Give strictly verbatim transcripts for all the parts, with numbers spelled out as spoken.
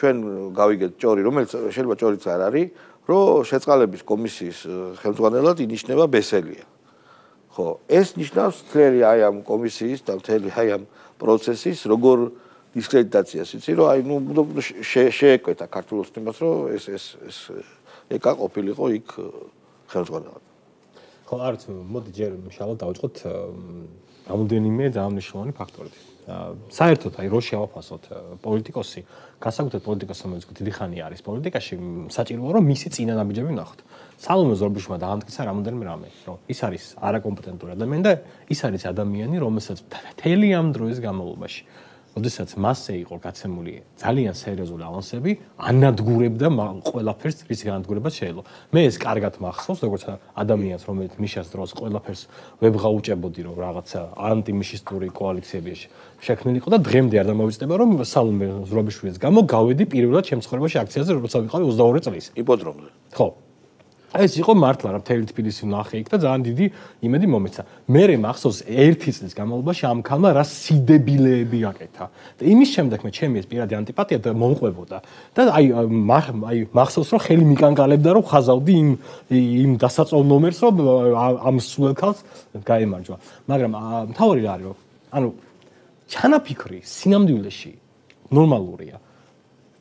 ჩვენ გავიგეთ ჭორი, რომელიც შეიძლება ჭორიც არ არის, რომ შეწყალების კომისიის ხელმძღვანელად ინიშნება ბესელია. ხო, ეს ნიშნავს მთელი აი ამ კომისიის და მთელი აი ამ პროცესის როგორ დისკრედიტაციას, იცი რომ აი ნუ შეეკვეთა ქართულ ოცნებას, რომ ეს ეს ეს ეკა ყოფილიყო იქ ხელმძღვანელად. ხო, არც მოდი ჯერ შალო დავიწყოთ რამოდენიმე დაამნიშნულოვანი ფაქტორით. საერთოდ აი რო შევაფასოთ პოლიტიკოსი, განსაკუთრებით პოლიტიკოსი, რომელიც დიდი ხანი არის პოლიტიკაში, საჭიროა რომ მისი წინანაბიჯები ვნახოთ. სალომე ზურაბიშვილმა დაამტკიცა რამოდენიმე რამე, რომ ის არის არაკომპეტენტური ადამიანი და ის არის ადამიანი, რომელსაც მთელი ამ დროის განმავლობაში როდესაც მასზე იყო გაცემული ძალიან სერიოზული ავანსები, ანადგურებდა ყველაფერს, რის განადგურებას შეიძლება. მე ეს კარგად მახსოვს, როგორც ადამიანს, რომელიც მიშას დროს ყველაფერს ვებღაუჭებოდი, რომ რაღაცა ანტიმიშისტური კოალიციები შექმნილიყო და დღემდე არ დამოვიწყდება, რომ სალომე ზურაბიშვილის გამო გავედი პირველად შემსხვრებაში აქციაზე, როცა ვიყავი ოცდაორი წლის. იპოდრომზე. ხო. ეს იყო მართლა რა მთელი თბილისი ვნახე იქ და ძალიან დიდი იმედი მომეცა. მე მახსოვს ერთი წლის განმავლობაში ამ ქალმა რა სიდებილეები აკეთა. და იმის შემდეგ მე ჩემი ეს პირადი ანტიპათია და მომყვებოდა. და აი აი მახსოვს რომ ხელი მიკანკალებდა რომ ხაზავდი იმ იმ დასაწვავ ნომერს რომ ამ სულ ქალს გაემარჯვა. მაგრამ მთავარი რა არის რომ ანუ ჩანაფიქრი სინამდვილეში ნორმალურია.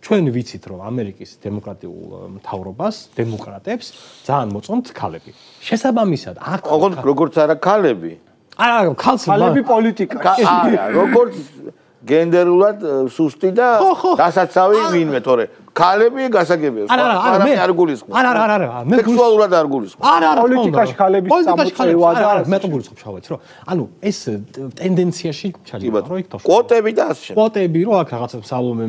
ჩვენ ვიცით რომ ამერიკის დემოკრატიულ მთავრობას, დემოკრატებს ძალიან მოწონთ ქალები. შესაბამისად, აქ როგორც არა ქალები. არა, ქალები პოლიტიკა. არა, როგორც გენდერულად სუსტი და დასაცავი ვინმე, თორე ქალები გასაგებია. არა, არა, მე არ გულისხმობ. არა, არა, არა, არა, მე სექსუალურად არ გულისხმობ. არა, არა, პოლიტიკაში ქალების წამოწევა და არა, მე გულისხმობ შავეთ, რომ ანუ ეს ტენდენციაში ჩადიოდა, რომ იქ თავში. კვოტები და ასე შემდეგ. კვოტები, რომ აქ რაღაცა სალომე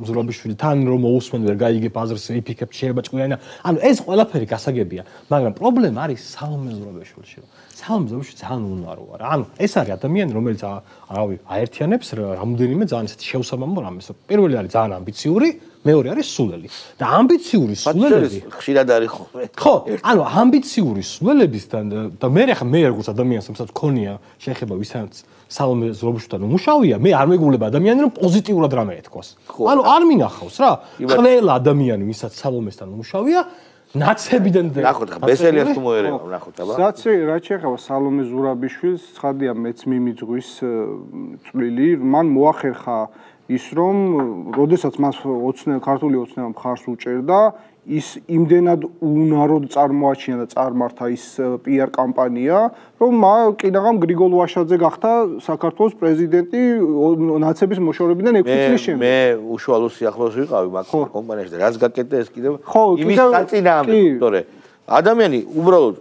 ზურაბიშვილი თან რომ მოусმენ ვერ გაიგებ აზრს, იფიქებ შეიძლება ჭკვიანა. ანუ ეს ყველაფერი გასაგებია, მაგრამ პრობლემა არის სალომე ზურაბიშვილში. სალომე ზურაბიშვილი ძალიან უნარო არა. ანუ ეს არის ადამიანი, რომელიც არავი აერთიანებს რამოდენიმე ძალიან ისეთი შეუსაბამო რამეს. პირველი არის ძალიან ამბიციური, მეორე არის სულელი. და ამბიციური სულელები ხშირად არის ხოლმე. ხო, ანუ ამბიციური სულელებისთან და მე ახლა მე როგორც ადამიანს, რომელსაც ქონია შეხება ვისაც სალომე ზურაბიშვილთან უმუშავია, მე არ მეგულება ადამიანი რომ პოზიტიურად რამე ეთქვას. ანუ არ მინახავს რა. ყველა ადამიანი ვისაც სალომესთან უმუშავია ნაცებიდან ნახოთ ხა ბესელიას თუ მოერევა ნახოთ აბა საცი რა შეეხება სალომე ზურაბიშვილს ცხადია მეც მიმიძღვის წვლილი მან მოახერხა ის რომ როდესაც მას ოცნე ქართული ოცნება მხარს უჭერდა ის იმდენად უნაროდ წარმოაჩინა და წარმართა ის პი არ კამპანია რომ კიდაღამ გრიგოლ ვაშაძე გახდა საქართველოს პრეზიდენტი ნაცების მოშორებიდან ექვსი წლის შემდეგ მე უშუალო სიახლოვეს ვიყავი მაგ კომპანიაში და რაც გაკეთდა ეს კიდევ იმის საწინააღმდეგო თორე ადამიანი უბრალოდ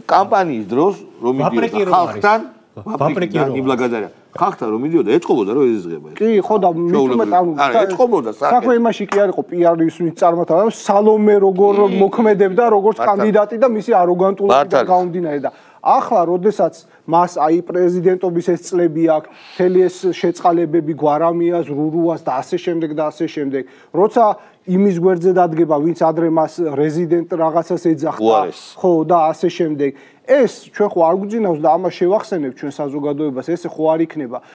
კამპანიის დროს რომ მიდიოდა ხალხთან ვაპრეკირო იმლაგადარია ხალხთან რომ მიდიოდა ეწყობოდა რომ ეზიზღება ეს კი ხო და მithumet ანუ ეწყობოდა საქმე იმაში კი არ იყო პი არის ვინც წარმართა რომ სალომე როგორ მოქმედებდა როგორც კანდიდატი და მისი აროგანტულობა გაუმდინარე და ახლა როდესაც მას აი პრეზიდენტობის ეს წლები აქვს, მთელი ეს შეწყალებები გვარამიას, რურუას და ასე შემდეგ და ასე შემდეგ, როცა იმის გვერდზე დადგება, ვინც ადრე მას რეზიდენტ რაღაცას ეძახდა, ხო და ასე შემდეგ. ეს ჩვენ ხო არ გვძინავს და ამას შევახსენებ ჩვენ საზოგადოებას, ესე ხო არ იქნება.